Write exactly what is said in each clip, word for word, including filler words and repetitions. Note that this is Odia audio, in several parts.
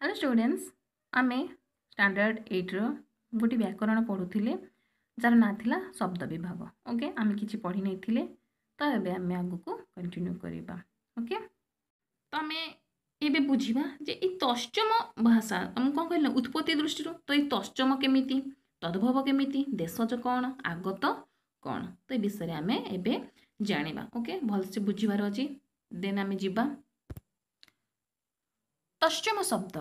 ହ୍ୟାଲୋ ଷ୍ଟୁଡେଣ୍ଟସ୍ ଆମେ ଷ୍ଟାଣ୍ଡାର୍ଡ଼ ଏଇଟ୍ର ଗୋଟିଏ ବ୍ୟାକରଣ ପଢ଼ୁଥିଲେ ଯାହାର ନାଁ ଥିଲା ଶବ୍ଦ ବିଭାଗ ଓକେ ଆମେ କିଛି ପଢ଼ି ନେଇଥିଲେ ତ ଏବେ ଆମେ ଆଗକୁ କଣ୍ଟିନ୍ୟୁ କରିବା ଓକେ ତ ଆମେ ଏବେ ବୁଝିବା ଯେ ଏଇ ତତ୍ସମ ଭାଷା ମୁଁ କ'ଣ କହିଲି ନା ଉତ୍ପତ୍ତି ଦୃଷ୍ଟିରୁ ତ ଏଇ ତତ୍ସମ କେମିତି ତଦ୍ଭବ କେମିତି ଦେଶଜ କ'ଣ ଆଗତ କ'ଣ ତ ଏ ବିଷୟରେ ଆମେ ଏବେ ଜାଣିବା ଓକେ ଭଲସେ ବୁଝିବାର ଅଛି ଦେନ୍ ଆମେ ଯିବା ତତ୍ସମ ଶବ୍ଦ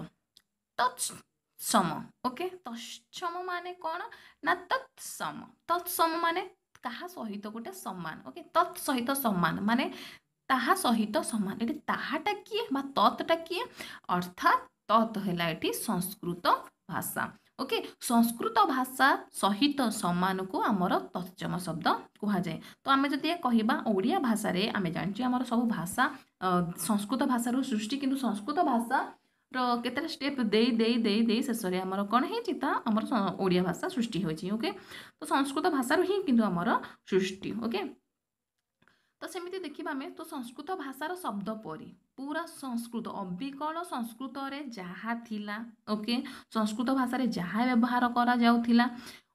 ତତ୍ସମ ଓକେ ତତ୍ସମ ମାନେ କ'ଣ ନା ତତ୍ସମ ତତ୍ସମ ମାନେ କାହା ସହିତ ଗୋଟେ ସମାନ ଓକେ ତତ୍ ସହିତ ସମାନ ମାନେ ତାହା ସହିତ ସମାନ ଏଠି ତାହାଟା କିଏ ବା ତତ୍ଟା କିଏ ଅର୍ଥାତ୍ ତତ୍ ହେଲା ଏଠି ସଂସ୍କୃତ ଭାଷା ଓକେ ସଂସ୍କୃତ ଭାଷା ସହିତ ସମାନକୁ ଆମର ତତ୍ସମ ଶବ୍ଦ କୁହାଯାଏ ତ ଆମେ ଯଦି କହିବା ଓଡ଼ିଆ ଭାଷାରେ ଆମେ ଜାଣିଛୁ ଆମର ସବୁ ଭାଷା ସଂସ୍କୃତ ଭାଷାରୁ ସୃଷ୍ଟି କିନ୍ତୁ ସଂସ୍କୃତ ଭାଷାର କେତେଟା ଷ୍ଟେପ୍ ଦେଇ ଦେଇ ଦେଇ ଦେଇ ଶେଷରେ ଆମର କ'ଣ ହେଇଛି ତା ଆମର ଓଡ଼ିଆ ଭାଷା ସୃଷ୍ଟି ହୋଇଛି ଓକେ ତ ସଂସ୍କୃତ ଭାଷାରୁ ହିଁ କିନ୍ତୁ ଆମର ସୃଷ୍ଟି ଓକେ ତ ସେମିତି ଦେଖିବା ଆମେ ତ ସଂସ୍କୃତ ଭାଷାର ଶବ୍ଦ ପରି ପୁରା ସଂସ୍କୃତ ଅବିକଳ ସଂସ୍କୃତରେ ଯାହା ଥିଲା ଓକେ ସଂସ୍କୃତ ଭାଷାରେ ଯାହା ବ୍ୟବହାର କରାଯାଉଥିଲା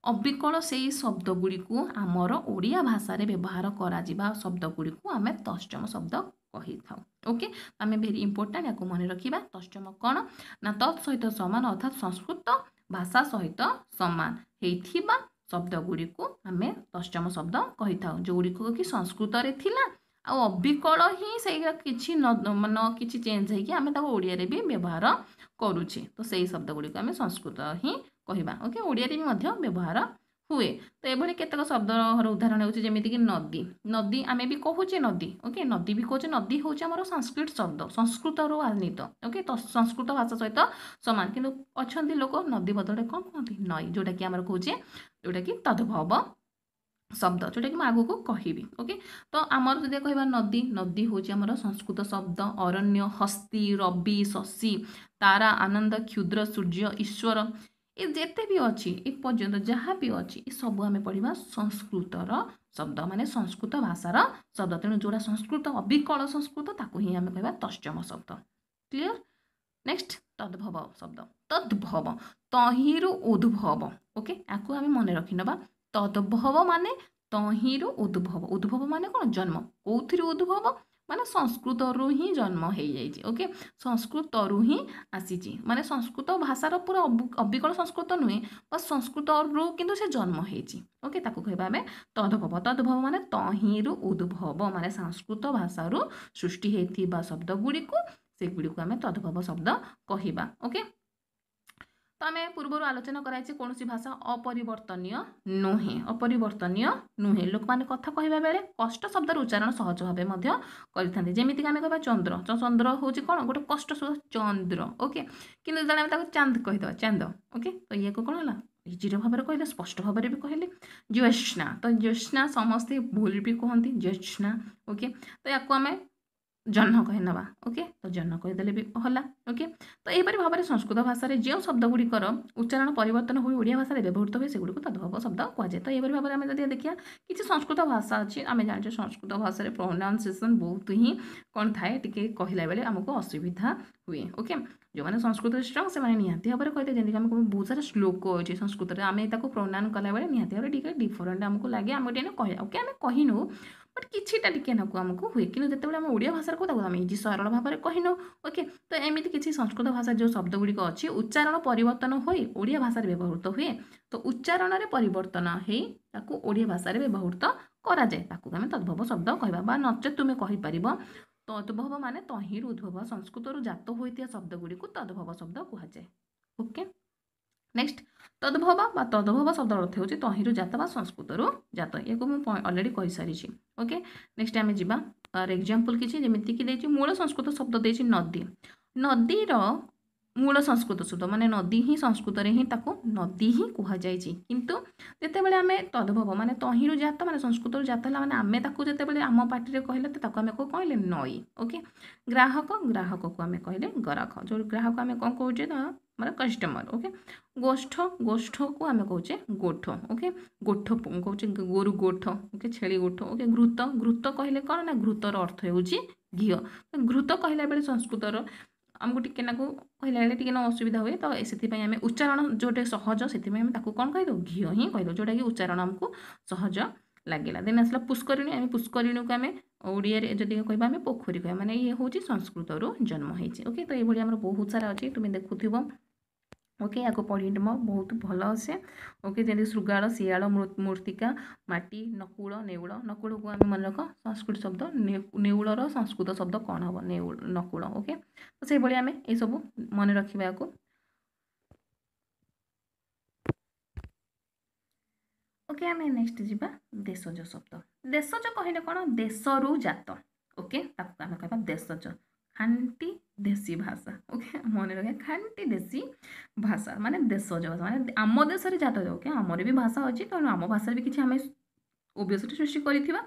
ଅବିକଳ ସେଇ ଶବ୍ଦ ଗୁଡ଼ିକୁ ଆମର ଓଡ଼ିଆ ଭାଷାରେ ବ୍ୟବହାର କରାଯିବା ଶବ୍ଦ ଗୁଡ଼ିକୁ ଆମେ ତତ୍ସମ ଶବ୍ଦ କହିଥାଉ ଓକେ ଆମେ ଭେରି ଇମ୍ପୋର୍ଟାଣ୍ଟ ୟାକୁ ମନେ ରଖିବା ତତ୍ସମ କ'ଣ ନା ତତ୍ ସହିତ ସମାନ ଅର୍ଥାତ୍ ସଂସ୍କୃତ ଭାଷା ସହିତ ସମାନ ହେଇଥିବା ଶବ୍ଦ ଗୁଡ଼ିକୁ ଆମେ ତତ୍ସମ ଶବ୍ଦ କହିଥାଉ ଯେଉଁଗୁଡ଼ିକ କି ସଂସ୍କୃତରେ ଥିଲା ଆଉ ଅବିକଳ ହିଁ ସେଇଟା କିଛି ନ ନ କିଛି ଚେଞ୍ଜ ହେଇକି ଆମେ ତାକୁ ଓଡ଼ିଆରେ ବି ବ୍ୟବହାର କରୁଛେ ତ ସେଇ ଶବ୍ଦ ଗୁଡ଼ିକୁ ଆମେ ସଂସ୍କୃତ ହିଁ କହିବା ଓକେ ଓଡ଼ିଆରେ ବି ମଧ୍ୟ ବ୍ୟବହାର ହୁଏ ତ ଏଭଳି କେତେକ ଶବ୍ଦର ଉଦାହରଣ ହେଉଛି ଯେମିତିକି ନଦୀ ନଦୀ ଆମେ ବି କହୁଛେ ନଦୀ ଓକେ ନଦୀ ବି କହୁଛେ ନଦୀ ହେଉଛି ଆମର ସାଂସ୍କ୍ରିଟ ଶବ୍ଦ ସଂସ୍କୃତରୁ ଆନିତ ଓକେ ତ ସଂସ୍କୃତ ଭାଷା ସହିତ ସମାନ କିନ୍ତୁ ଅଛନ୍ତି ଲୋକ ନଦୀ ବଦଳରେ କ'ଣ କୁହନ୍ତି ନଈ ଯେଉଁଟାକି ଆମର କହୁଛେ ଯେଉଁଟାକି ତଦ୍ଭବ ଶବ୍ଦ ଯେଉଁଟାକି ମୁଁ ଆଗକୁ କହିବି ଓକେ ତ ଆମର ଯଦି କହିବା ନଦୀ ନଦୀ ହେଉଛି ଆମର ସଂସ୍କୃତ ଶବ୍ଦ ଅରଣ୍ୟ ହସ୍ତି ରବି ଶଶୀ ତାରା ଆନନ୍ଦ କ୍ଷୁଦ୍ର ସୂର୍ଯ୍ୟ ଈଶ୍ୱର ଏ ଯେତେ ବି ଅଛି ଏ ପର୍ଯ୍ୟନ୍ତ ଯାହା ବି ଅଛି ଏ ସବୁ ଆମେ ପଢ଼ିବା ସଂସ୍କୃତର ଶବ୍ଦ ମାନେ ସଂସ୍କୃତ ଭାଷାର ଶବ୍ଦ ତେଣୁ ଯେଉଁଟା ସଂସ୍କୃତ ଅବିକଳ ସଂସ୍କୃତ ତାକୁ ହିଁ ଆମେ କହିବା ତତ୍ସମ ଶବ୍ଦ କ୍ଲିଅର ନେକ୍ସଟ ତଦ୍ଭବ ଶବ୍ଦ ତଦ୍ଭବ ତହିଁରୁ ଉଦ୍ଭବ ଓକେ ଆକୁ ଆମେ ମନେ ରଖିନେବା ତଦ୍ଭବ ମାନେ ତହିଁରୁ ଉଦ୍ଭବ ଉଦ୍ଭବ ମାନେ କ'ଣ ଜନ୍ମ କେଉଁଥିରୁ ଉଦ୍ଭବ ମାନେ ସଂସ୍କୃତରୁ ହିଁ ଜନ୍ମ ହେଇଯାଇଛି ଓକେ ସଂସ୍କୃତରୁ ହିଁ ଆସିଛି ମାନେ ସଂସ୍କୃତ ଭାଷାର ପୁରା ଅବିକଳ ସଂସ୍କୃତ ନୁହେଁ ବା ସଂସ୍କୃତରୁ କିନ୍ତୁ ସେ ଜନ୍ମ ହେଇଛି ଓକେ ତାକୁ କହିବା ଆମେ ତଦ୍ଭବ ତଦ୍ଭବ ମାନେ ତହିଁରୁ ଉଦ୍ଭବ ମାନେ ସଂସ୍କୃତ ଭାଷାରୁ ସୃଷ୍ଟି ହେଇଥିବା ଶବ୍ଦ ଗୁଡ଼ିକୁ ସେଗୁଡ଼ିକୁ ଆମେ ତଦ୍ଭବ ଶବ୍ଦ କହିବା ଓକେ ତ ଆମେ ପୂର୍ବରୁ ଆଲୋଚନା କରାଯାଇଛି କୌଣସି ଭାଷା ଅପରିବର୍ତ୍ତନୀୟ ନୁହେଁ ଅପରିବର୍ତ୍ତନୀୟ ନୁହେଁ ଲୋକମାନେ କଥା କହିବା ବେଳେ କଷ୍ଟ ଶବ୍ଦର ଉଚ୍ଚାରଣ ସହଜ ଭାବେ ମଧ୍ୟ କରିଥାନ୍ତି ଯେମିତିକି ଆମେ କହିବା ଚନ୍ଦ୍ର ଚନ୍ଦ୍ର ହେଉଛି କ'ଣ ଗୋଟେ କଷ୍ଟ ଶବ୍ଦ ଚନ୍ଦ୍ର ଓକେ କିନ୍ତୁ ଯେତେବେଳେ ଆମେ ତାକୁ ଚାନ୍ଦ କହିଦେବା ଚାନ୍ଦ ଓକେ ତ ଇଏକୁ କ'ଣ ହେଲା ଇଜିର ଭାବରେ କହିଲେ ସ୍ପଷ୍ଟ ଭାବରେ ବି କହିଲେ ଜ୍ୟୋତ୍ସ୍ନା ତ ଜ୍ୟୋତ୍ସ୍ନା ସମସ୍ତେ ଭୁଲ ବି କୁହନ୍ତି ଜ୍ୟୋତ୍ସ୍ନା ଓକେ ତ ୟାକୁ ଆମେ ଜହ୍ନ କହିନେବା ଓକେ ତ ଜହ୍ନ କହିଦେଲେ ବି ହେଲା ଓକେ ତ ଏହିପରି ଭାବରେ ସଂସ୍କୃତ ଭାଷାରେ ଯେଉଁ ଶବ୍ଦ ଗୁଡ଼ିକର ଉଚ୍ଚାରଣ ପରିବର୍ତ୍ତନ ହୋଇ ଓଡ଼ିଆ ଭାଷାରେ ବ୍ୟବହୃତ ହୁଏ ସେଗୁଡ଼ିକୁ ତଦ୍ଭବ ଶବ୍ଦ କୁହାଯାଏ ତ ଏହିପରି ଭାବରେ ଆମେ ଯଦି ଦେଖିବା କିଛି ସଂସ୍କୃତ ଭାଷା ଅଛି ଆମେ ଜାଣିଛେ ସଂସ୍କୃତ ଭାଷାରେ ପ୍ରୋନାଉନ୍ସିଏସନ୍ ବହୁତ ହିଁ କ'ଣ ଥାଏ ଟିକେ କହିଲା ବେଳେ ଆମକୁ ଅସୁବିଧା ହୁଏ ଓକେ ଯେଉଁମାନେ ସଂସ୍କୃତରେ ଷ୍ଟ୍ରଙ୍ଗ ସେମାନେ ନିହାତି ଭାବରେ କହିଲେ ଯେମିତିକି ଆମେ ବହୁତ ସାରା ଶ୍ଲୋକ ଅଛି ସଂସ୍କୃତରେ ଆମେ ତାକୁ ପ୍ରୋନାଉନ୍ କଲାବେଳେ ନିହାତି ଭାବରେ ଟିକେ ଡିଫରେଣ୍ଟ ଆମକୁ ଲାଗେ ଆମେ ଟିକେ କହିବା ଓକେ ଆମେ କହିନୁ ବଟ୍ କିଛିଟା ଟିକେ ନାକୁ ଆମକୁ ହୁଏ କିନ୍ତୁ ଯେତେବେଳେ ଆମେ ଓଡ଼ିଆ ଭାଷାରେ କହୁ ତାକୁ ଆମେ ଇଜି ସରଳ ଭାବରେ କହିନଉ ଓକେ ତ ଏମିତି କିଛି ସଂସ୍କୃତ ଭାଷା ଯେଉଁ ଶବ୍ଦ ଗୁଡ଼ିକ ଅଛି ଉଚ୍ଚାରଣ ପରିବର୍ତ୍ତନ ହୋଇ ଓଡ଼ିଆ ଭାଷାରେ ବ୍ୟବହୃତ ହୁଏ ତ ଉଚ୍ଚାରଣରେ ପରିବର୍ତ୍ତନ ହେଇ ତାକୁ ଓଡ଼ିଆ ଭାଷାରେ ବ୍ୟବହୃତ କରାଯାଏ ତାକୁ ଆମେ ତଦ୍ଭବ ଶବ୍ଦ କହିବା ବା ନଚେତ୍ ତୁମେ କହିପାରିବ ତଦ୍ଭବ ମାନେ ତହିଁରୁ ଉଦ୍ଭବ ସଂସ୍କୃତରୁ ଜାତ ହୋଇଥିବା ଶବ୍ଦ ଗୁଡ଼ିକୁ ତଦ୍ଭବ ଶବ୍ଦ କୁହାଯାଏ ଓକେ ନେକ୍ସଟ ତଦ୍ଭବ ବା ତଦ୍ଭବ ଶବ୍ଦର ଅର୍ଥ ହେଉଛି ତହିଁରୁ ଜାତ ବା ସଂସ୍କୃତରୁ ଜାତ ୟାକୁ ମୁଁ ଅଲରେଡ଼ି କହିସାରିଛି ଓକେ ନେକ୍ସଟ ଆମେ ଯିବା ତାର ଏକ୍ଜାମ୍ପଲ୍ କିଛି ଯେମିତିକି ଦେଇଛି ମୂଳ ସଂସ୍କୃତ ଶବ୍ଦ ଦେଇଛି ନଦୀ ନଦୀର ମୂଳ ସଂସ୍କୃତ ଶବ୍ଦ ମାନେ ନଦୀ ହିଁ ସଂସ୍କୃତରେ ହିଁ ତାକୁ ନଦୀ ହିଁ କୁହାଯାଇଛି କିନ୍ତୁ ଯେତେବେଳେ ଆମେ ତଦ୍ଭବ ମାନେ ତହିଁରୁ ଜାତ ମାନେ ସଂସ୍କୃତରୁ ଜାତ ହେଲା ମାନେ ଆମେ ତାକୁ ଯେତେବେଳେ ଆମ ପାଟିରେ କହିଲେ ତ ତାକୁ ଆମେ କ'ଣ କହିଲେ ନଈ ଓକେ ଗ୍ରାହକ ଗ୍ରାହକକୁ ଆମେ କହିଲେ ଗରାଖ ଯେଉଁ ଗ୍ରାହକ ଆମେ କ'ଣ କହୁଛେ ନା ଆମର କଷ୍ଟମର ଓକେ ଗୋଷ୍ଠ ଗୋଷ୍ଠକୁ ଆମେ କହୁଛେ ଗୋଠ ଓକେ ଗୋଠ କହୁଛେ ଗୋରୁ ଗୋଠ ଓକେ ଛେଳି ଗୋଠ ଓକେ ଘୃତ ଘୃତ କହିଲେ କ'ଣ ନା ଘୃତର ଅର୍ଥ ହେଉଛି ଘିଅ ଘୃତ କହିଲା ବେଳେ ସଂସ୍କୃତର ଆମକୁ ଟିକେ ନାକୁ କହିଲା ବେଳେ ଟିକେ ନା ଅସୁବିଧା ହୁଏ। ତ ସେଥିପାଇଁ ଆମେ ଉଚ୍ଚାରଣ ଯେଉଁଟା ସହଜ ସେଥିପାଇଁ ଆମେ ତାକୁ କ'ଣ କହିଦେଉ, ଘିଅ ହିଁ କହିଦେଉ, ଯେଉଁଟାକି ଉଚ୍ଚାରଣ ଆମକୁ ସହଜ ଲାଗିଲା। ଦେନ୍ ଆସିଲା ପୁଷ୍କରିଣୀ। ଆମେ ପୁଷ୍କରିଣୀକୁ ଆମେ ଓଡ଼ିଆରେ ଯଦି କହିବା ଆମେ ପୋଖରୀ କହିବା, ମାନେ ଇଏ ହେଉଛି ସଂସ୍କୃତରୁ ଜନ୍ମ ହେଇଛି। ଓକେ, ତ ଏଇଭଳି ଆମର ବହୁତ ସାରା ଅଛି, ତୁମେ ଦେଖୁଥିବ। ଓକେ, ୟାକୁ ପଢ଼ିବ ବହୁତ ଭଲ ଆସେ। ଓକେ, ଯେମିତି ଶୃଗାଳ, ଶିଆଳ, ମୂର୍ତ୍ତିକା, ମାଟି, ନକୁଳ, ନେଉଳ। ନକୁଳକୁ ଆମେ ମନେ ରଖ ସଂସ୍କୃତ ଶବ୍ଦ, ନେଉଳର ସଂସ୍କୃତ ଶବ୍ଦ କ'ଣ ହେବ, ନେଉଳ, ନକୁଳ। ଓକେ, ତ ସେଇଭଳି ଆମେ ଏସବୁ ମନେ ରଖିବା ୟାକୁ। ଓକେ, ଆମେ ନେକ୍ସଟ ଯିବା ଦେଶଜ ଶବ୍ଦ। ଦେଶଜ କହିଲେ କ'ଣ, ଦେଶରୁ ଜାତ। ଓକେ, ତାକୁ ଆମେ କହିବା ଦେଶଜ, ଖାଣ୍ଟି ଦେଶୀ ଭାଷା। ଓକେ, ମନେ ରଖିବା ଖାଣ୍ଟି ଦେଶୀ ଭାଷା ମାନେ ଦେଶଜ ଭାଷା, ମାନେ ଆମ ଦେଶରେ ଜାତ। ଓକେ, ଆମର ବି ଭାଷା ଅଛି, ତେଣୁ ଆମ ଭାଷାରେ ବି କିଛି ଆମେ ଓବିୟସଲି ସୃଷ୍ଟି କରିଥିବା।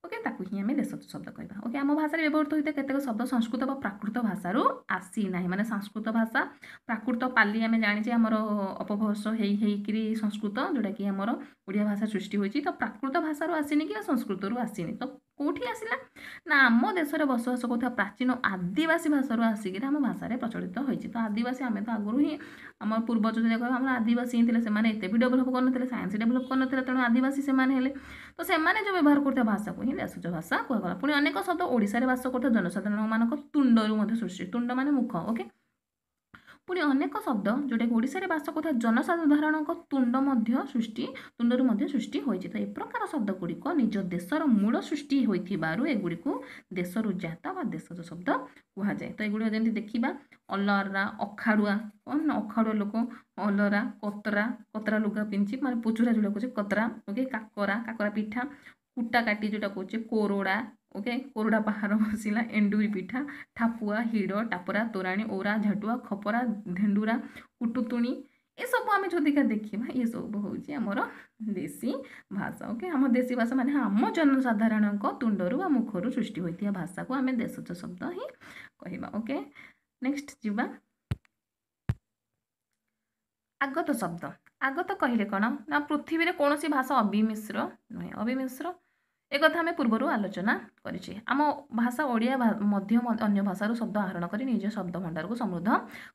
ଓକେ, ତାକୁ ହିଁ ଆମେ ଦେଶଜ ଶବ୍ଦ କହିବା। ଓକେ, ଆମ ଭାଷାରେ ବ୍ୟବହୃତ ହୋଇଥିବା କେତେକ ଶବ୍ଦ ସଂସ୍କୃତ ବା ପ୍ରାକୃତ ଭାଷାରୁ ଆସିନାହିଁ, ମାନେ ସଂସ୍କୃତ ଭାଷା ପ୍ରାକୃତ ପାଲି ଆମେ ଜାଣିଛେ ଆମର ଅପଭ୍ରଂଶ ହେଇ ହେଇକିରି ସଂସ୍କୃତ, ଯେଉଁଟାକି ଆମର ଓଡ଼ିଆ ଭାଷା ସୃଷ୍ଟି ହୋଇଛି। ତ ପ୍ରାକୃତ ଭାଷାରୁ ଆସିନି କି ସଂସ୍କୃତରୁ ଆସିନି, ତ କେଉଁଠି ଆସିଲା ନା ଆମ ଦେଶରେ ବସବାସ କରୁଥିବା ପ୍ରାଚୀନ ଆଦିବାସୀ ଭାଷାରୁ ଆସିକିରି ଆମ ଭାଷାରେ ପ୍ରଚଳିତ ହୋଇଛି। ତ ଆଦିବାସୀ ଆମେ ତ ଆଗରୁ ହିଁ ଆମର ପୂର୍ବଜ ଯଦି କହିବା ଆମର ଆଦିବାସୀ ହିଁ ଥିଲେ, ସେମାନେ ଏତେ ବି ଡେଭଲପ୍ କରିନଥିଲେ, ସାଇନ୍ସ ଡେଭଲପ୍ କରିନଥିଲେ, ତେଣୁ ଆଦିବାସୀ ସେମାନେ ହେଲେ। ତ ସେମାନେ ଯେଉଁ ବ୍ୟବହାର କରୁଥିବା ଭାଷାକୁ ହିଁ ଦେଶଜ ଭାଷା କୁହାଗଲା। ପୁଣି ଅନେକ ଶବ୍ଦ ଓଡ଼ିଶାରେ ବାସ କରୁଥିବା ଜନସାଧାରଣମାନଙ୍କ ତୁଣ୍ଡରୁ ମଧ୍ୟ ସୃଷ୍ଟି, ତୁଣ୍ଡ ମାନେ ମୁଖ। ଓକେ, ପୁଣି ଅନେକ ଶବ୍ଦ ଯେଉଁଟାକି ଓଡ଼ିଶାରେ ବାସ କରୁଥିବା ଜନସାଧାରଣଙ୍କ ତୁଣ୍ଡ ମଧ୍ୟ ସୃଷ୍ଟି ତୁଣ୍ଡରୁ ମଧ୍ୟ ସୃଷ୍ଟି ହୋଇଛି। ତ ଏ ପ୍ରକାର ଶବ୍ଦ ଗୁଡ଼ିକ ନିଜ ଦେଶର ମୂଳ ସୃଷ୍ଟି ହୋଇଥିବାରୁ ଏଗୁଡ଼ିକୁ ଦେଶରୁ ଜାତ ବା ଦେଶଜ ଶବ୍ଦ କୁହାଯାଏ। ତ ଏଗୁଡ଼ିକ ଯେମିତି ଦେଖିବା ଅଲରା, ଅଖାଡ଼ୁଆ, କ'ଣ ନା ଅଖାଡ଼ୁଆ ଲୋକ, ଅଲରା, କତରା, କତରା ଲୁଗା ପିନ୍ଧିଛି ମାନେ ପୁଚୁରା ଯେଉଁଟା କହୁଛେ କତରା। ଓକେ, କାକରା, କାକରା ପିଠା, କୁଟା କାଟି ଯେଉଁଟା କହୁଛେ, କୋରଡ଼ା। ଓକେ, କୋରଡ଼ା ପାହାର ବସିଲା, ଏଣ୍ଡୁରି ପିଠା, ଠାପୁଆ, ହିଡ଼, ଟାପରା, ତୋରାଣୀ, ଓରା, ଝାଟୁଆ, ଖପରା, ଧେଣ୍ଡୁରା, କୁଟୁତୁଣି, ଏସବୁ ଆମେ ଯଦିକା ଦେଖିବା ଏସବୁ ହେଉଛି ଆମର ଦେଶୀ ଭାଷା। ଓକେ, ଆମ ଦେଶୀ ଭାଷା ମାନେ ଆମ ଜନସାଧାରଣଙ୍କ ତୁଣ୍ଡରୁ ବା ମୁଖରୁ ସୃଷ୍ଟି ହୋଇଥିବା ଭାଷାକୁ ଆମେ ଦେଶଜ ଶବ୍ଦ ହିଁ କହିବା। ଓକେ, ନେକ୍ସଟ ଯିବା ଆଗତ ଶବ୍ଦ। ଆଗତ କହିଲେ କ'ଣ ନା ପୃଥିବୀରେ କୌଣସି ଭାଷା ଅବିମିଶ୍ର ନୁହେଁ। ଅବିମିଶ୍ର ଏକଥା ଆମେ ପୂର୍ବରୁ ଆଲୋଚନା କରିଛେ। ଆମ ଭାଷା ଓଡ଼ିଆ ମଧ୍ୟ ଅନ୍ୟ ଭାଷାରୁ ଶବ୍ଦ ଆହରଣ କରି ନିଜ ଶବ୍ଦ ଭଣ୍ଡାରକୁ ସମୃଦ୍ଧ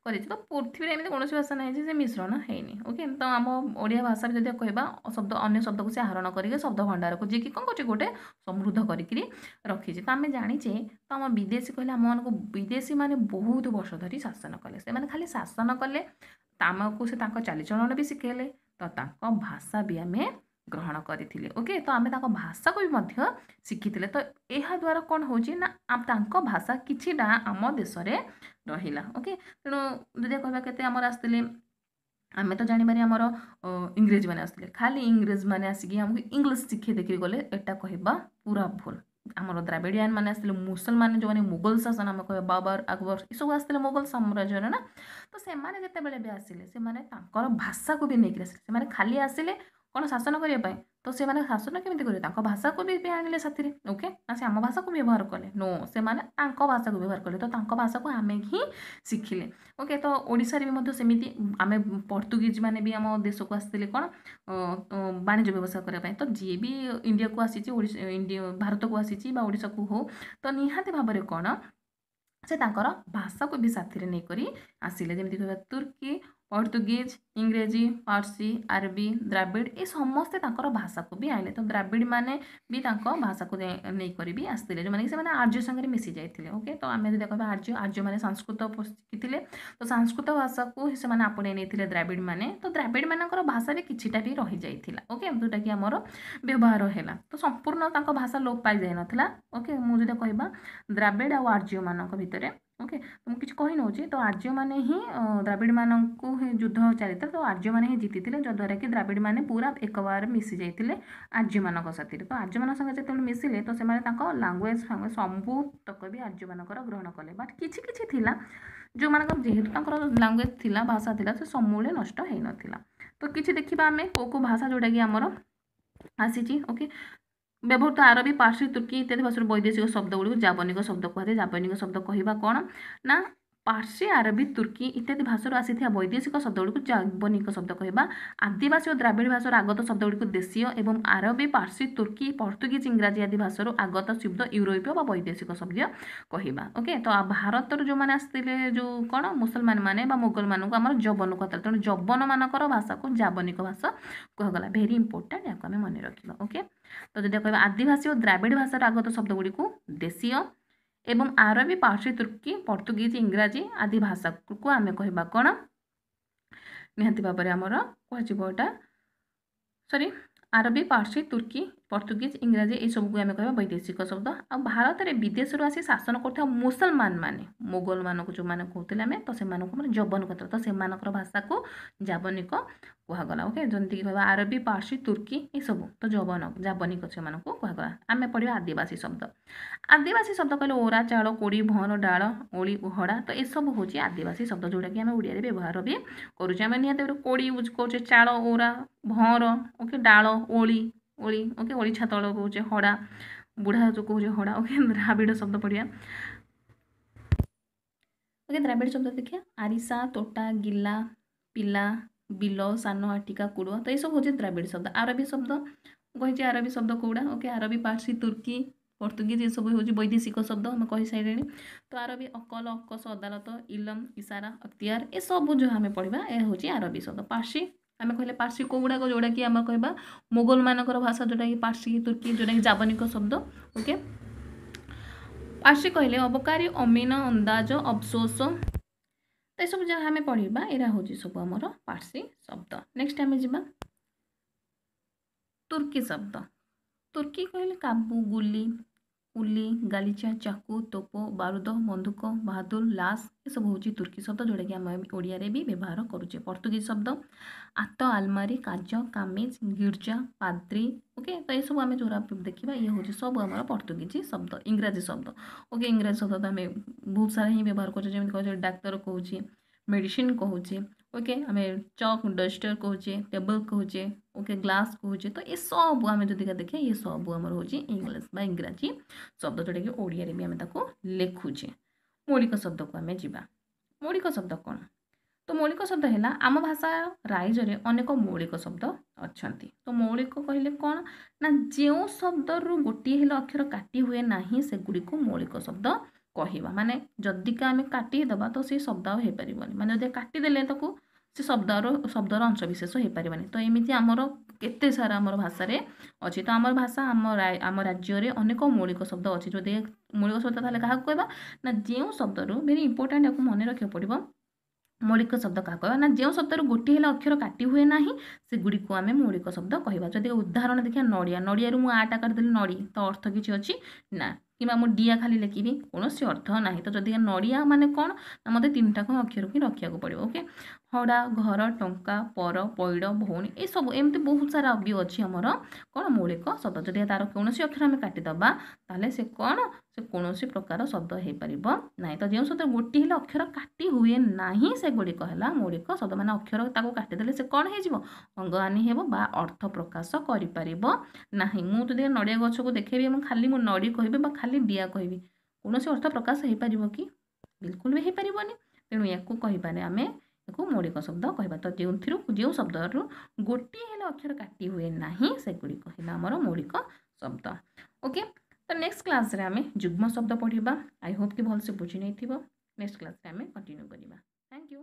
କରିଛି। ତ ପୃଥିବୀରେ ଏମିତି କୌଣସି ଭାଷା ନାହିଁ ଯେ ସେ ମିଶ୍ରଣ ହେଇନି। ଓକେ, ତ ଆମ ଓଡ଼ିଆ ଭାଷାରେ ଯଦି କହିବା ଶବ୍ଦ ଅନ୍ୟ ଶବ୍ଦକୁ ସେ ଆହରଣ କରିକି ଶବ୍ଦ ଭଣ୍ଡାରକୁ ଯିଏକି କ'ଣ କରୁଛି ଗୋଟେ ସମୃଦ୍ଧ କରିକିରି ରଖିଛି। ତ ଆମେ ଜାଣିଛେ ତ ଆମ ବିଦେଶୀ କହିଲେ ଆମମାନଙ୍କୁ ବିଦେଶୀ ମାନେ ବହୁତ ବର୍ଷ ଧରି ଶାସନ କଲେ। ସେମାନେ ଖାଲି ଶାସନ କଲେ, ଆମକୁ ସେ ତାଙ୍କ ଚାଲିଚଳନ ବି ଶିଖେଇଲେ, ତ ତାଙ୍କ ଭାଷା ବି ଆମେ ଗ୍ରହଣ କରିଥିଲେ। ଓକେ, ତ ଆମେ ତାଙ୍କ ଭାଷାକୁ ବି ମଧ୍ୟ ଶିଖିଥିଲେ। ତ ଏହାଦ୍ୱାରା କ'ଣ ହେଉଛି ନା ତାଙ୍କ ଭାଷା କିଛିଟା ଆମ ଦେଶରେ ରହିଲା। ଓକେ, ତେଣୁ ଯଦି କହିବା କେତେ ଆମର ଆସିଥିଲେ, ଆମେ ତ ଜାଣିବାରେ ଆମର ଇଂରେଜମାନେ ଆସିଥିଲେ। ଖାଲି ଇଂରେଜମାନେ ଆସିକି ଆମକୁ ଇଂଲିଶ ଶିଖେଇ ଦେଇକିରି ଗଲେ, ଏଟା କହିବା ପୁରା ଭୁଲ। ଆମର ଦ୍ରାବିଡ଼ିଆନ ମାନେ ଆସିଥିଲେ, ମୁସଲମାନ ଯେଉଁମାନେ ମୁଗଲ ଶାସନ ଆମେ କହିବା ବାବର, ଆକବର ଏସବୁ ଆସିଥିଲେ ମୋଗଲ ସାମ୍ରାଜ୍ୟରେ ନା। ତ ସେମାନେ ଯେତେବେଳେ ବି ଆସିଲେ ସେମାନେ ତାଙ୍କର ଭାଷାକୁ ବି ନେଇକିରି ଆସିଲେ। ସେମାନେ ଖାଲି ଆସିଲେ କ'ଣ ଶାସନ କରିବା ପାଇଁ, ତ ସେମାନେ ଶାସନ କେମିତି କରିବେ, ତାଙ୍କ ଭାଷାକୁ ବି ବି ଆଣିଲେ ସାଥିରେ। ଓକେ, ନା ସେ ଆମ ଭାଷାକୁ ବ୍ୟବହାର କଲେ? ନୋ, ସେମାନେ ତାଙ୍କ ଭାଷାକୁ ବ୍ୟବହାର କଲେ। ତ ତାଙ୍କ ଭାଷାକୁ ଆମେ ହିଁ ଶିଖିଲେ। ଓକେ, ତ ଓଡ଼ିଶାରେ ବି ମଧ୍ୟ ସେମିତି ଆମେ ପର୍ତ୍ତୁଗୀଜ ମାନେ ବି ଆମ ଦେଶକୁ ଆସିଥିଲେ କ'ଣ ବାଣିଜ୍ୟ ବ୍ୟବସାୟ କରିବା ପାଇଁ। ତ ଯିଏ ବି ଇଣ୍ଡିଆକୁ ଆସିଛି, ଓଡ଼ିଶା ଇଣ୍ଡିଆ ଭାରତକୁ ଆସିଛି ବା ଓଡ଼ିଶାକୁ ହଉ, ତ ନିହାତି ଭାବରେ କ'ଣ ସେ ତାଙ୍କର ଭାଷାକୁ ବି ସାଥିରେ ନେଇକରି ଆସିଲେ। ଯେମିତି କହିବା ତୁର୍କୀ, ପର୍ତ୍ତୁଗୀଜ, ଇଂରେଜୀ, ପାର୍ସୀ, ଆରବୀ, ଦ୍ରାବିଡ଼ ଏ ସମସ୍ତେ ତାଙ୍କର ଭାଷାକୁ ବି ଆଣିଲେ। ତ ଦ୍ରାବିଡ଼ ମାନେ ବି ତାଙ୍କ ଭାଷାକୁ ନେଇକରି ବି ଆସିଥିଲେ, ଯେଉଁମାନେ କି ସେମାନେ ଆର୍ଯ୍ୟ ସାଙ୍ଗରେ ମିଶି ଯାଇଥିଲେ। ଓକେ, ତ ଆମେ ଯଦି କହିବା ଆର୍ଯ୍ୟ, ଆର୍ଯ୍ୟମାନେ ସଂସ୍କୃତ ଶିଖିଥିଲେ, ତ ସଂସ୍କୃତ ଭାଷାକୁ ସେମାନେ ଆପଣେଇ ନେଇଥିଲେ ଦ୍ରାବିଡ଼ ମାନେ। ତ ଦ୍ରାବିଡ଼ ମାନଙ୍କର ଭାଷା ବି କିଛିଟା ବି ରହିଯାଇଥିଲା। ଓକେ, ଯେଉଁଟାକି ଆମର ବ୍ୟବହାର ହେଲା। ତ ସମ୍ପୂର୍ଣ୍ଣ ତାଙ୍କ ଭାଷା ଲୋପ ପାଇଯାଇନଥିଲା। ଓକେ, ମୁଁ ଯଦି କହିବା ଦ୍ରାବିଡ଼ ଆଉ ଆର୍ଯ୍ୟମାନଙ୍କ ଭିତରେ, ଓକେ, ତ ମୁଁ କିଛି କହି ନେଉଛି। ତ ଆର୍ଯ୍ୟମାନେ ହିଁ ଦ୍ରାବିଡ଼ମାନଙ୍କୁ ହିଁ ଯୁଦ୍ଧ ଚାଲିଥିଲା, ତ ଆର୍ଯ୍ୟମାନେ ହିଁ ଜିତିଥିଲେ, ଯଦ୍ୱାରା କି ଦ୍ରାବିଡ଼ମାନେ ପୁରା ଏକବାର ମିଶି ଯାଇଥିଲେ ଆର୍ଯ୍ୟମାନଙ୍କ ସାଥିରେ। ତ ଆର୍ଯ୍ୟମାନଙ୍କ ସାଙ୍ଗେ ଯେତେବେଳେ ମିଶିଲେ, ତ ସେମାନେ ତାଙ୍କ ଲାଙ୍ଗୁଏଜ ଫାଙ୍ଗୁଏଜ ସବୁତକ ବି ଆର୍ଯ୍ୟମାନଙ୍କର ଗ୍ରହଣ କଲେ। ବଟ୍ କିଛି କିଛି ଥିଲା ଯେଉଁମାନଙ୍କର ଯେହେତୁ ତାଙ୍କର ଲାଙ୍ଗୁଏଜ ଥିଲା, ଭାଷା ଥିଲା, ସେ ସମୂଳେ ନଷ୍ଟ ହେଇନଥିଲା। ତ କିଛି ଦେଖିବା ଆମେ କେଉଁ କେଉଁ ଭାଷା ଯେଉଁଟାକି ଆମର ଆସିଛି। ଓକେ, ବ୍ୟବହୃତ ଆରବୀ, ପାର୍ସୀ, ତୁର୍କୀ ଇତ୍ୟାଦି ଭାଷାରୁ ବୈଦେଶିକ ଶବ୍ଦ ଗୁଡ଼ିକୁ ଜାବନିକ ଶବ୍ଦ କୁହାଯାଏ। ଜାବନିକ ଶବ୍ଦ କହିବା କ'ଣ ନା ପାର୍ସୀ, ଆରବୀ, ତୁର୍କୀ ଇତ୍ୟାଦି ଭାଷାରୁ ଆସିଥିବା ବୈଦେଶିକ ଶବ୍ଦଗୁଡ଼ିକୁ ଜାବନିକ ଶବ୍ଦ କହିବା। ଆଦିବାସୀ ଓ ଦ୍ରାବିଡ଼ ଭାଷାରୁ ଆଗତ ଶବ୍ଦଗୁଡ଼ିକୁ ଦେଶୀୟ ଏବଂ ଆରବୀ, ପାର୍ସୀ, ତୁର୍କୀ, ପର୍ତ୍ତୁଗୀଜ, ଇଂରାଜୀ ଆଦି ଭାଷାରୁ ଆଗତ ଶବ୍ଦ ୟୁରୋପୀୟ ବା ବୈଦେଶିକ ଶବ୍ଦ କହିବା। ଓକେ, ତ ଭାରତରୁ ଯେଉଁମାନେ ଆସିଥିଲେ ଯେଉଁ କ'ଣ ମୁସଲମାନ ମାନେ ବା ମୋଗଲମାନଙ୍କୁ ଆମର ଯବନ କୁହାଥିଲା, ତେଣୁ ଯବନମାନଙ୍କର ଭାଷାକୁ ଜାବନିକ ଭାଷା କୁହାଗଲା। ଭେରି ଇମ୍ପୋର୍ଟାଣ୍ଟ, ଏହାକୁ ଆମେ ମନେ ରଖିବା। ଓକେ, ତ ଯଦି କହିବା ଆଦିବାସୀ ଓ ଦ୍ରାବିଡ଼ ଭାଷାର ଆଗତ ଶବ୍ଦଗୁଡ଼ିକୁ ଦେଶୀୟ ଏବଂ ଆରବୀ, ପାର୍ସୀ, ତୁର୍କୀ, ପର୍ତ୍ତୁଗୀଜ, ଇଂରାଜୀ ଆଦି ଭାଷାକୁ ଆମେ କହିବା କ'ଣ? ନିହାତି ଭାବରେ ଆମର କୁହାଯିବ ଏଇଟା ସରି ଆରବୀ, ପାର୍ସୀ, ତୁର୍କୀ, ପର୍ତ୍ତୁଗୀଜ, ଇଂରାଜୀ ଏସବୁକୁ ଆମେ କହିବା ବୈଦେଶିକ ଶବ୍ଦ। ଆଉ ଭାରତରେ ବିଦେଶରୁ ଆସି ଶାସନ କରୁଥିବା ମୁସଲମାନ ମାନେ ମୋଗଲମାନଙ୍କୁ ଯେଉଁମାନେ କହୁଥିଲେ ଆମେ, ତ ସେମାନଙ୍କୁ ଆମର ଯବନ କହୁଥିଲେ, ତ ସେମାନଙ୍କର ଭାଷାକୁ ଜାବନିକ କୁହାଗଲା। ଓକେ, ଯେମିତିକି କହିବା ଆରବୀ, ପାର୍ସୀ, ତୁର୍କୀ ଏସବୁ ତ ଯବନ ଜାବନିକ ସେମାନଙ୍କୁ କୁହାଗଲା। ଆମେ ପଢ଼ିବା ଆଦିବାସୀ ଶବ୍ଦ। ଆଦିବାସୀ ଶବ୍ଦ କହିଲେ ଓରା, ଚାଳ, କୋଡ଼ି, ଭଅଁର, ଡାଳ, ଓଳି, ହଡ଼ା, ତ ଏସବୁ ହେଉଛି ଆଦିବାସୀ ଶବ୍ଦ, ଯେଉଁଟାକି ଆମେ ଓଡ଼ିଆରେ ବ୍ୟବହାର ବି କରୁଛେ। ଆମେ ନିହାତି ଭାବରେ କୋଡ଼ି ୟୁଜ୍ କରୁଛେ, ଚାଳ, ଓରା, ଭଅଁର, ଓକେ, ଡାଳ, ଓଳି, ଓଳି, ଓକେ, ଓଳିଛା ତଳ କହୁଛେ, ହଡ଼ା, ବୁଢ଼ା ଯେଉଁ କହୁଛେ ହଡ଼ା। ଓକେ, ଦ୍ରାବିଡ଼ ଶବ୍ଦ ପଢ଼ିବା। ଓକେ, ଦ୍ରାବିଡ଼ ଶବ୍ଦ ଦେଖିବା ଆରିସା, ତୋଟା, ଗିଲା, ପିଲା, ବିଲ, ସାନ, ଆଟିକା, କୁଡ଼ୁଆ, ତ ଏସବୁ ହେଉଛି ଦ୍ରାବିଡ଼ ଶବ୍ଦ। ଆରବୀ ଶବ୍ଦ କହିଛି, ଆରବୀ ଶବ୍ଦ କେଉଁଟା? ଓକେ, ଆରବୀ, ପାର୍ସୀ, ତୁର୍କୀ, ପର୍ତ୍ତୁଗୀଜ ଏସବୁ ହେଉଛି ବୈଦେଶିକ ଶବ୍ଦ, ଆମେ କହିସାରିଲେଣି। ତ ଆରବୀ ଅକଲ, ଅକସ, ଅଦାଲତ, ଇଲମ, ଇସାରା, ଅକ୍ତିଆର, ଏସବୁ ଯାହା ଆମେ ପଢ଼ିବା ଏହା ହେଉଛି ଆରବୀ ଶବ୍ଦ। ପାର୍ସୀ ଆମେ କହିଲେ ପାର୍ସୀ କେଉଁଗୁଡ଼ାକ? ଯେଉଁଟାକି ଆମେ କହିବା ମୋଗଲମାନଙ୍କର ଭାଷା, ଯେଉଁଟାକି ପାର୍ସୀ, ତୁର୍କୀ, ଯେଉଁଟାକି ଜାବନିକ ଶବ୍ଦ। ଓକେ, ପାର୍ସୀ କହିଲେ ଅବକାରୀ, ଅମିନ, ଅନ୍ଦାଜ, ଅଫସୋସ, ତ ଏସବୁ ଯାହା ଆମେ ପଢ଼ିବା ଏଇଟା ହେଉଛି ସବୁ ଆମର ପାର୍ସୀ ଶବ୍ଦ। ନେକ୍ସଟ ଆମେ ଯିବା ତୁର୍କୀ ଶବ୍ଦ। ତୁର୍କୀ କହିଲେ କାବୁ, ଗୁଲି, କୁଲି, ଗାଲିଚା, ଚାକୁ, ତୋପ, ବାରୁଦ, ବନ୍ଧୁକ, ବାହାଦୁର, ଲାଶ, ଏସବୁ ହେଉଛି ତୁର୍କୀ ଶବ୍ଦ, ଯେଉଁଟାକି ଆମେ ଓଡ଼ିଆରେ ବି ବ୍ୟବହାର କରୁଛେ। ପର୍ତ୍ତୁଗୀଜ ଶବ୍ଦ ଆତ, ଆଲମାରି, କାଜ, କାମିଜ, ଗିର୍ଜା, ପାଦ୍ରୀ। ଓକେ, ତ ଏସବୁ ଆମେ ଯେଉଁଟା ଦେଖିବା ଇଏ ହେଉଛି ସବୁ ଆମର ପର୍ତ୍ତୁଗୀଜ ଶବ୍ଦ। ଇଂରାଜୀ ଶବ୍ଦ, ଓକେ, ଇଂରାଜୀ ଶବ୍ଦ ତ ଆମେ ବହୁତ ସାରା ହିଁ ବ୍ୟବହାର କରୁଛେ, ଯେମିତି କହୁଛେ ଡାକ୍ତର କହୁଛେ, ମେଡ଼ିସିନ କହୁଛେ, ଓକେ, ଆମେ ଚକ୍, ଡଷ୍ଟର କହୁଛେ, ଟେବଲ୍ କହୁଛେ, ଓକେ, ଗ୍ଲାସ୍ କହୁଛେ। ତ ଏସବୁ ଆମେ ଯଦି ଦେଖିବା ଇଏ ସବୁ ଆମର ହେଉଛି ଇଂଲିଶ ବା ଇଂରାଜୀ ଶବ୍ଦ, ଯେଉଁଟାକି ଓଡ଼ିଆରେ ବି ଆମେ ତାକୁ ଲେଖୁଛେ। ମୌଳିକ ଶବ୍ଦକୁ ଆମେ ଯିବା। ମୌଳିକ ଶବ୍ଦ କ'ଣ? ତ ମୌଳିକ ଶବ୍ଦ ହେଲା ଆମ ଭାଷା ରାଇଜରେ ଅନେକ ମୌଳିକ ଶବ୍ଦ ଅଛନ୍ତି। ତ ମୌଳିକ କହିଲେ କ'ଣ ନା ଯେଉଁ ଶବ୍ଦରୁ ଗୋଟିଏ ହେଲେ ଅକ୍ଷର କାଟି ହୁଏ ନାହିଁ ସେଗୁଡ଼ିକୁ ମୌଳିକ ଶବ୍ଦ କହିବା। ମାନେ ଯଦିକା ଆମେ କାଟିଦେବା ତ ସେ ଶବ୍ଦ ଆଉ ହେଇପାରିବନି, ମାନେ ଯଦି କାଟିଦେଲେ ତାକୁ ସେ ଶବ୍ଦର ଶବ୍ଦର ଅଂଶବିଶେଷ ହେଇପାରିବନି। ତ ଏମିତି ଆମର କେତେ ସାରା ଆମର ଭାଷାରେ ଅଛି। ତ ଆମର ଭାଷା ଆମ ଆମ ରାଜ୍ୟରେ ଅନେକ ମୌଳିକ ଶବ୍ଦ ଅଛି। ଯଦି ମୌଳିକ ଶବ୍ଦ ତାହେଲେ କାହାକୁ କହିବା ନା ଯେଉଁ ଶବ୍ଦରୁ, ଭେରି ଇମ୍ପୋର୍ଟାଣ୍ଟ, ଏହାକୁ ମନେ ରଖିବାକୁ ପଡ଼ିବ। ମୌଳିକ ଶବ୍ଦ କାହାକୁ କହିବା ନା ଯେଉଁ ଶବ୍ଦରୁ ଗୋଟିଏ ହେଲେ ଅକ୍ଷର କାଟି ହୁଏ ନାହିଁ ସେଗୁଡ଼ିକୁ ଆମେ ମୌଳିକ ଶବ୍ଦ କହିବା। ଯଦି ଉଦାହରଣ ଦେଖିବା ନଡ଼ିଆ, ନଡ଼ିଆରୁ ମୁଁ ଆଟା କାଟିଦେଲି ନଡ଼ି, ତ ଅର୍ଥ କିଛି ଅଛି ନା, କିମ୍ବା ମୁଁ ଡିଆ ଖାଲି ଲେଖିବି କୌଣସି ଅର୍ଥ ନାହିଁ। ତ ଯଦି ନଡ଼ିଆ ମାନେ କ'ଣ ନା ମୋତେ ତିନିଟାକ ଅକ୍ଷରକୁ ହିଁ ରଖିବାକୁ ପଡ଼ିବ। ଓକେ, ହଡ଼ା, ଘର, ଟଙ୍କା, ପର, ପଇଡ଼, ଭଉଣୀ, ଏସବୁ ଏମିତି ବହୁତ ସାରା ବି ଅଛି ଆମର କ'ଣ ମୌଳିକ ଶବ୍ଦ। ଯଦି ତାର କୌଣସି ଅକ୍ଷର ଆମେ କାଟିଦେବା ତାହେଲେ ସେ କ'ଣ ସେ କୌଣସି ପ୍ରକାର ଶବ୍ଦ ହେଇପାରିବ ନାହିଁ। ତ ଯେଉଁ ଶବ୍ଦ ଗୋଟିଏ ହେଲେ ଅକ୍ଷର କାଟି ହୁଏ ନାହିଁ ସେଗୁଡ଼ିକ ହେଲା ମୌଳିକ ଶବ୍ଦ। ମାନେ ଅକ୍ଷର ତାକୁ କାଟିଦେଲେ ସେ କ'ଣ ହେଇଯିବ, ଅଙ୍ଗହାନି ହେବ ବା ଅର୍ଥ ପ୍ରକାଶ କରିପାରିବ ନାହିଁ। ମୁଁ ଯଦି ନଡ଼ିଆ ଗଛକୁ ଦେଖେଇବି ଏବଂ ଖାଲି ମୁଁ ନଡ଼ି କହିବି ବା ଖାଲି ଡିଆ କହିବି, କୌଣସି ଅର୍ଥ ପ୍ରକାଶ ହେଇପାରିବ କି? ବିଲକୁଲ ବି ହେଇପାରିବନି। ତେଣୁ ୟାକୁ କହିବାରେ ଆମେ ୟାକୁ ମୌଳିକ ଶବ୍ଦ କହିବା। ତ ଯେଉଁଥିରୁ ଯେଉଁ ଶବ୍ଦରୁ ଗୋଟିଏ ହେଲେ ଅକ୍ଷର କାଟି ହୁଏ ନାହିଁ ସେଗୁଡ଼ିକ ହେଲା ଆମର ମୌଳିକ ଶବ୍ଦ। ଓକେ, ତ ନେକ୍ସଟ କ୍ଲାସ୍ରେ ଆମେ ଯୁଗ୍ମ ଶବ୍ଦ ପଢ଼ିବା। I Hope କି ଭଲସେ ବୁଝି ନେଇଥିବ। ନେକ୍ସଟ କ୍ଲାସ୍ରେ ଆମେ କଣ୍ଟିନ୍ୟୁ କରିବା। Thank you.